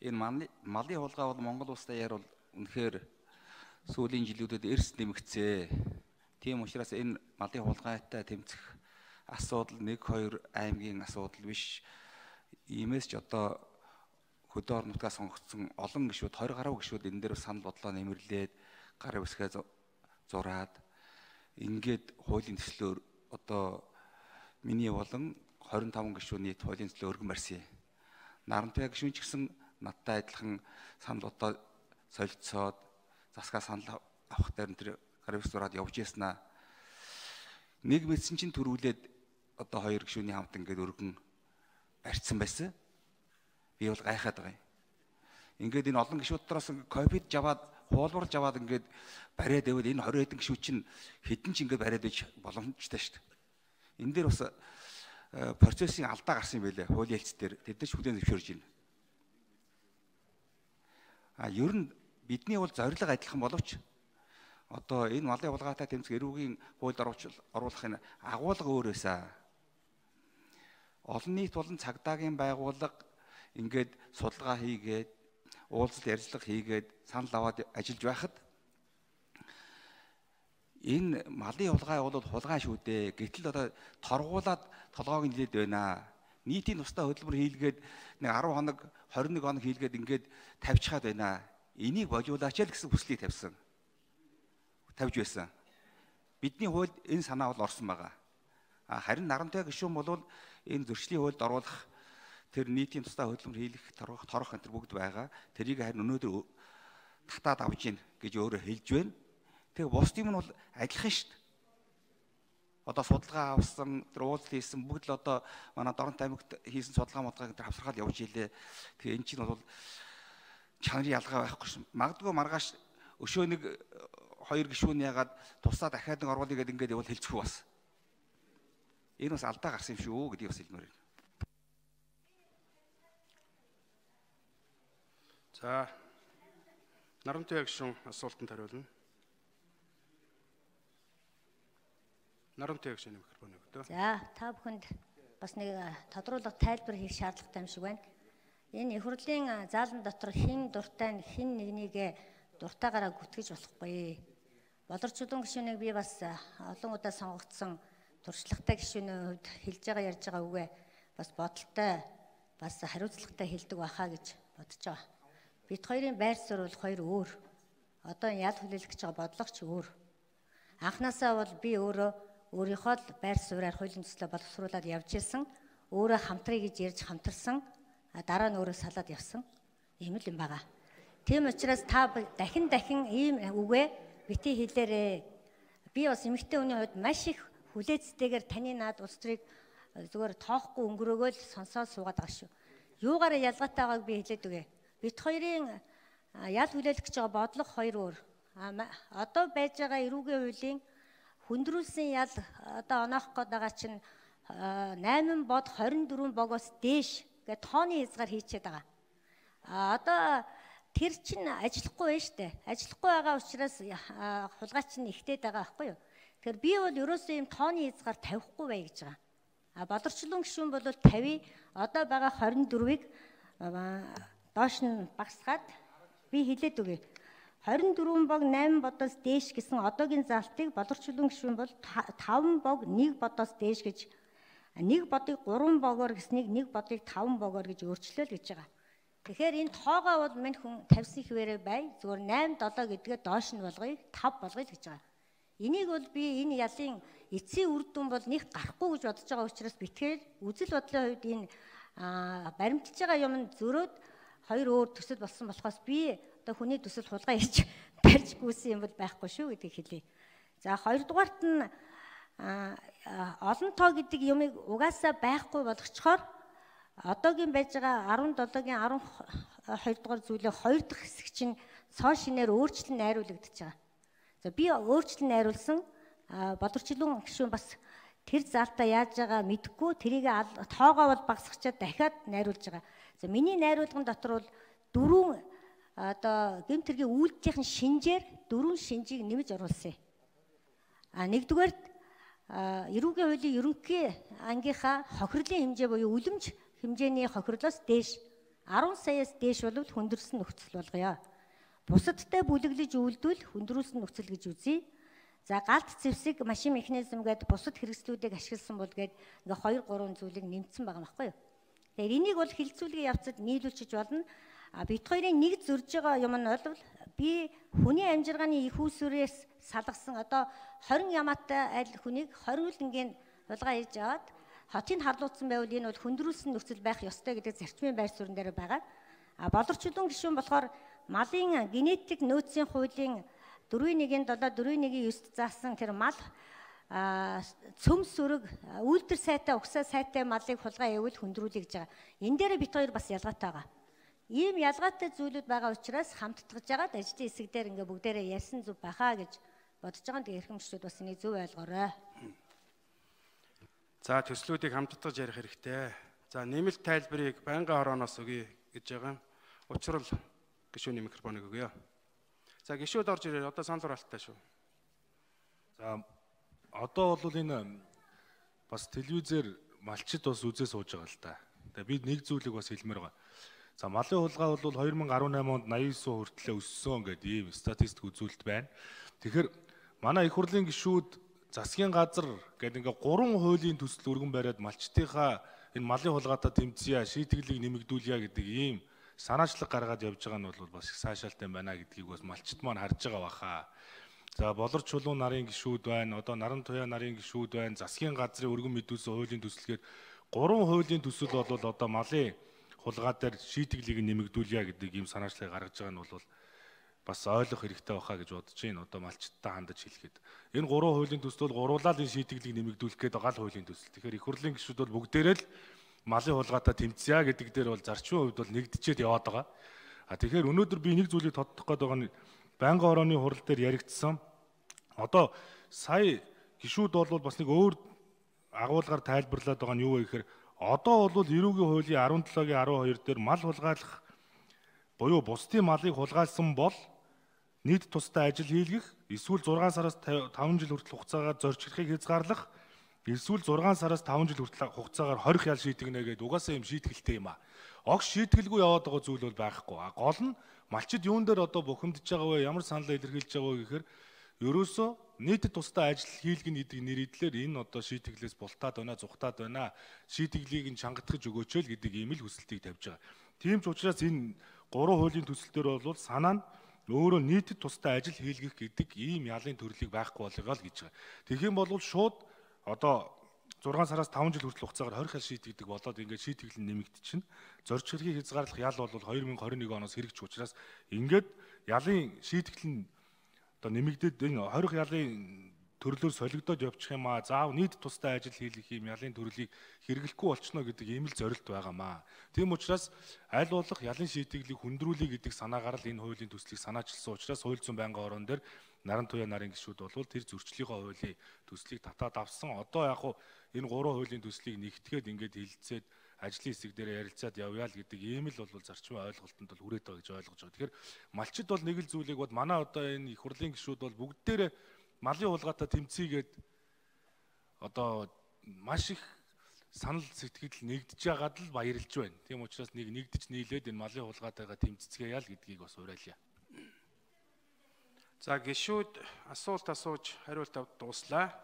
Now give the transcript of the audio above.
Энэ малын хулгай бол Монгол улс даяар бол үнэхээр сүүлийн жилүүдэд эрс нэмэгцээ. Тийм учраас энэ малын хулгайтай тэмцэх асуудал 1-2 аймгийн асуудал биш. Иймээс ч одоо хөдөө орон нутгаас сонгогдсон олон гишүүд 20 гаруй гишүүд энэ дээр санал бодлоо нэмэрлээд гар үсгээ зураад ингээд хуулийн төслөөр одоо миний болон 25 гишүүн нийт хуулийн төслөөр өргөн барьсан. Нарантай гишүүн ч гэсэн надтай адилхан санал бодлоо солилцоод засгаа санал авах дээр тэр гар үсгээ зураад явж яснаа. Нэг мэдсэн чинь төрүүлээд одоо 2 гишүүний хамт ингээд өргөн барьцсан байсан. Би бол гайхаад байгаа юм. Ингээд энэ олон гишүүд доороос ковид жаваад хуулбарлаж аваад ингээд бариад байвал энэ 20 хэдэн гишүүд чинь хэдэн ч ингээд бариад иж боломжтой шүү дээ. Энэ дээр бас процессын алдаа гарсан юм байлээ хуулийн хэлц дээр. Тэд нар ч хүлээн зөвшөөрж байна. Ер нь бидний бол зорилго адилхан боловч одоо энэ малын хулгайтай тэмцэх эрүүгийн хуульд оруулахын агуулга өөр байсан. Олон нийт болон цагдаагийн байгууллага ингээд судалгаа хийгээд уулзалт ярилцлага хийгээд санал аваад ажиллаж байхад энэ малын хулгай бол хулгай шүү дээ. Гэтэл одоо торгуулаад толгойг нь нилээд байна. Нийтийн тусдаа хөтөлбөр хийлгээд нэг 10 хоног 21 хоног хийлгээд ингээд тавьчихад байна. Энийг божуулаач л гэсэн хүслийг тавьж байсан. Бидний хуульд энэ санаа бол орсон байгаа. Харин нарантай гишүүн бол энэ зөрчлийн хуульд оруулах тэр нийтийн тусдаа хөтөлбөр хийлгэх торох энэ бүгд байгаа. Тэрийг харин өнөөдөр татаад авж гин гэж өөрөө хэлж байна. Тэгээ бус юм нь бол адилхан шүү дээ. Одоо судалгаа авсан, тэр уулзалт хийсэн бүгд л одоо манай Дорнот аймагт хийсэн судалгаа модгааг тэр хавсархаад явж илээ. Тэгээ эн чинь бол чанарын ялгаа байхгүй шин. Магадгүй маргааш өшөө нэг 2 гишүүн ягаад тусаа дахиад нэг оруулъя гэдээ ингээд явал хэлчихв бас. Энэ бас алдаа гарсан юм шүү гэдгийг бас хэлмээр байна. За Нарантай гишүүн асуултанд хариулна. Нарантай гишүүний микрофон өгдөө. За та бүхэнд бас нэг тодруулах тайлбар хийх шаардлагатай юм шиг байна. Энэ их хурлын заалан дотор хэн дуртай нь хэн нэгнийгээ дуртайгаараа гүтгэж болохгүй. Болорчулуун гишүүнийг би бас олон удаа сонгогдсон туршлагатай гишүүний хувьд хэлж байгаа ярьж байгаа үгээ бас бодолтой бас хариуцлагатай хэлдэг байхаа гэж бодож байгаа. Бид хоёрын байр суурь бол хоёр өөр. Одоо ял хүлээлгэж байгаа бодлого ч өөр. Анхнаасаа бол би өөрийнхөө л байр сууриар хуулийн төслөө боловсруулаад явж исэн. Өөрөө хамтрыг гэж ярьж хамтарсан. Дараа нь өөрөө салаад явсан. Ийм л юм байгаа. Тийм учраас та дахин ийм үгээ бити хэлээрээ. Би бас эмэгтэй хүний хувьд маш их хүлээцтэйгээр таны наад улс төрийг зүгээр тоохгүй өнгөрөөгөө л сонсоод суугаад байгаа шүү. Юугаараа ялгаатай байгааг би хэлээд үгээ. Бид хоёрын ял хүлээлгэж байгаа бодлого хоёр өөр. Одоо байж байгаа эрүүгийн хуулийн хүндрүүлсэн ял одоо оноох гээд байгаа чинь 8 бод 24 богоос дээш гэ тооны хязгаар хийчихэд байгаа. Одоо тэр чинь ажиллахгүй байна штэ. Ажиллахгүй байгаа учраас хулгай чинь ихтэйд байгаа байхгүй юу? Тэгэхээр би бол ерөөсөө юм тооны хязгаар тавихгүй бай гэж байгаа. Болорчлон гишүүн бол 50, одоо байгаа 24-ийг доош нь багсгаад би хэлээд үгүй. 24 бог 8 бодоос дээш гэсэн одоогийн заалтыг болорчлон гишүүн бол 5 бог 1 бодоос дээш гэж 1 бодыг 3 богоор гэснийг 1 бодыг 5 богоор гэж өөрчлөөл гэж байгаа. Тэгэхээр энэ тоогоо бол минь хүн тавьсан хിവэрэ бай. Зүгээр 8 7 гэдгээ доош нь болгоё, 5 болгоё гэж байгаа. Энийг бол би энэ ялын эцсийн үр дүн бол нэг гарахгүй гэж бодож байгаа учраас битгээр үзэл бодлын хувьд энэ баримталж байгаа юм зөрөөд хоёр өөр төсөл болсон болохоос би одоо хүний төсөл хулгай хийж барьж гүйсэн юм бол байхгүй шүү гэдгийг хэлье. За хоёрдугаарт нь олон тоо гэдэг юмыг угаасаа байхгүй болгочхоор одоогийн байж байгаа 17-гийн 12 дугаар зүйлээ 2 дахь хэсэг чинь цоо шинээр өөрчлөн найруулагдаж байгаа. За би өөрчлөн найруулсан болорчлон гишүүн бас тэр заалтаа яаж байгаа мэдэхгүй тэрийг тоогоо бол багсгачаад дахиад найруулж байгаа. За миний найруулган дотор бол 4 одоо гэмт хэргийн үйлдэлийн шинжээр 4 шинжийг нэмж оруулсан. Нэгдүгээрт эрүүгийн хуулийн ерөнхий ангийнхаа хохирлын хэмжээ буюу үлэмж хэмжээний хохирлоос дээш 10 саяас дээш бол хүндрэлсэн нөхцөл болгоё. Бусадтай бүлэглэж үйлдвэл хүндрүүлсэн нөхцөл гэж үзье. За галт зэвсэг машин механизм гэдэг бусад хэрэгслүүдийг ашигласан бол гээд ингээ 2-3 зүйлийг нэмсэн байгаа байхгүй юу. Тэгэхээр энийг бол хилцүүлгийн явцад нийлүүлчих болно. Бид хоёрын нэг зөрж байгаа юм нь бол би хүний амжиргааны их үүсвэрээс салгасан одоо 20 ямаатай аль хүнийг 20 үнгийн хулгай хийж аваад хотыг харлуулсан байвал энэ бол хүндрүүлсэн нөхцөл байх ёстой гэдэг зарчмын байр суурин дээр байгаа. Болорчдын гишүүн болохоор малын генетик нөөцийн хуулийн 4.1-7 4.1-9-д заасан тэр мал цөм сүрэг үйлдвэр сайтай угсаа сайтай малыг хулгай явуул хүндрүүлэх гэж байгаа. Энэ дээр бид хоёр бас ялгаатай байгаа. Ийм ялгаатай зүйлүүд байгаа учраас хамттгаж байгаад ажлын хэсэг дээр ингээ бүгдээрээ ярьсан зүг бахаа гэж бодож байгаа. Тэгээ эрхэмжлүүд бас энийг зөв ойлгоорой. За төслүүдийг хамттгаж ярих хэрэгтэй. За нэмэлт тайлбарыг байнгын хорооноос өгье гэж байгаа. Учрал гишүүний микрофоныг өгье. За гишүүд орж ирээ. Одоо санал хураалттай шүү. За одоо бол энэ бас телевизээр малчид бас үзээ сууж байгаа л да. Тэгээ бид нэг зүйлийг бас хэлмээр байгаа. За малын хулгай бол 2018 онд 89% хүртэл өссөн гэдэг ийм статистик үзүүлэлт байна. Тэгэхээр манай их хурлын гишүүд засгийн газар гэдэг ингээ 3 хуулийн төсөл өргөн бариад малчдынхаа энэ малын хулгайтай тэмцэе, шийтгэлийг нэмэгдүүлье гэдэг ийм санаачлаг гаргаад явж байгаа нь бол бас их сайшаалтай байна гэдгийг бас малчид маань харж байгаа баха. За болорч чулуун нарын гишүүд байна, одоо наран туяа нарын гишүүд байна, засгийн газрын өргөн мэдүүлсэн хуулийн төсөлгээд 3 хуулийн төсөл бол одоо малын хулгай дээр шийтгэлийг нэмэгдүүлье гэдэг ийм санаачлагыг гаргаж байгаа нь бол бас ойлгох хэрэгтэй баха гэж бодож байна. Одоо малчдтай хандаж хэлэхэд. Энэ 3 хуулийн төсөл бол гуруулаад энэ шийтгэлийг нэмэгдүүлэх гэдэг гал хуулийн төсөл. Тэгэхээр их хурлын гишүүд бол бүгдээрээ л малын хулгайтай тэмцэе гэдэг дээр бол зарчмын хувьд бол нэгдчихэд яваад байгаа. Тэгэхээр өнөөдөр би нэг зүйлийг тодтох гээд байгаа нь байнгын хорооны хурал дээр яригдсан. Одоо сая гишүүд бол бас нэг өөр агуулгаар тайлбарлаад байгаа нь юу вэ гэхээр одоо бол эрүүгийн хуулийн 17-гийн 12 дээр мал хулгайлах буюу бусдын малыг хулгайлсан бол нийт тустай ажил хийлгэх, эсвэл 6 сараас 5 жил хүртэл хугацаагаар зорчигдохыг хязгаарлах, эсвэл 6 сараас 5 жил хүртэл хугацаагаар хорих ял шийтгэнэ гэдэг угаасаа юм шийтгэлтэй юм аа. Огш шийтгэлгүй яваад байгаа зүйл бол байхгүй. Гол нь малчид юун дээр одоо бухимдж байгаа вэ? Ямар санал илэрхийлж байгаа вэ гэхээр ерөөсөө нийтэд тустай ажил хийлгэн гэдэг нэрийдлэр энэ одоо шийтгэлээс бултаад байна, зүхтаад байна. Шийтгэлийг нь чангатгаж өгөөч л гэдэг ийм л хүсэлтийг тавьж байгаа. Тийм ч учраас энэ 3 хуулийн төсөл дээр бол санаа нь өөрөө нийтэд тустай ажил хийлгэх гэдэг ийм ялын төрлийг байхгүй болгоо л гэж байгаа. Тэгэх юм бол шууд одоо 6 сараас 5 жил хүртэл хугацаагаар хорих ял шийтгдэг болоод ингээд шийтгэл нь нэмэгдчихнэ. Зорч хэргийг хязгаарлах ял бол 2021 оноос хэрэгж учраас ингээд ялын шийтгэл нь одоо нэмэгдээд энэ хорих ялын төрлөөр солигдоод явчих юм аа. Заав нийт тустай ажил хийх юм ялын төрлийг хэрэглэхгүй болчихно гэдэг ийм л зорилт байгаамаа. Тийм учраас аль болох ялын шийтгэлийг хүндрүүлэх гэдэг санаагаар л энэ хуулийн төслийг санаачилсан учраас хууль зүйн байнгын хорон дээр наран туяа нарын гишүүд бол тэр зөрчлийнхөө хуулийн төслийг татаад авсан. Одоо яг хуу энэ 3 хуулийн төслийг нэгтгэхэд ингээд хилцээд ажлын хэсэг дээр ярилцаад явъя л гэдэг ийм л бол зарчмын ойлголтод бол хүрээд байгаа гэж ойлгож байгаа. Тэгэхээр малчид бол нэг л зүйлийг бод манай одоо энэ их хурлын гишүүд бол бүгдээрээ малын хулгайтай тэмцээгээд одоо маш их санал сэтгэл нэгдэж байгаад л баярлж байна. Тийм учраас нэгдэж нийлээд энэ малын хулгайтайгаа тэмцэцгээе ял гэдгийг бас уриалъя. За гишүүд асуулт асууж хариулт авд дуслаа.